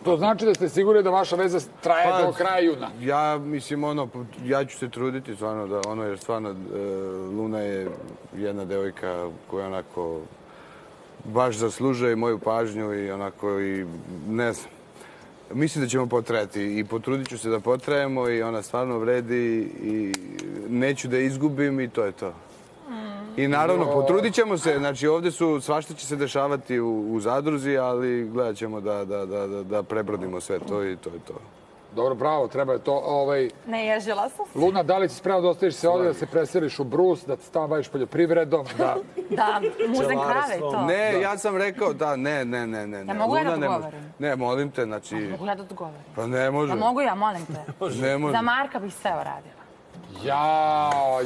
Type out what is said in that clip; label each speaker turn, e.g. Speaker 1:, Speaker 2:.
Speaker 1: To znači da ste sigurni da vaša veza traje do kraja juna?
Speaker 2: Ja, mislim, ja ću se truditi, stvarno, da jer stvarno Luna je jedna devojka koja onako baš zaslužuje moju pažnju i onako i ne znam. Mislim da ćemo potrajati i potrudit ću se da potrajemo i ona stvarno vredi i neću da izgubim i to je to. I naravno, potrudit ćemo se, znači ovdje svašta će se dešavati u zadruzi, ali gledat ćemo da prebrodimo sve to i to je to.
Speaker 1: Dobro, bravo, treba je to.
Speaker 3: Ne, ježila sam se.
Speaker 1: Luna, da li si spremna da ostaviš se ovdje, da se preseliš u Brus, da se tamo baviš poljoprivredom, da...
Speaker 3: Da, muzem krave i to.
Speaker 2: Ne, ja sam rekao da, ne.
Speaker 3: Ja mogu ja da odgovorim?
Speaker 2: Ne, molim te, znači...
Speaker 3: Mogu ja da odgovorim?
Speaker 2: Pa ne može.
Speaker 3: Da mogu ja, molim te.
Speaker 2: Ne može.
Speaker 3: Za Marka bih sve uradila.
Speaker 1: Jao!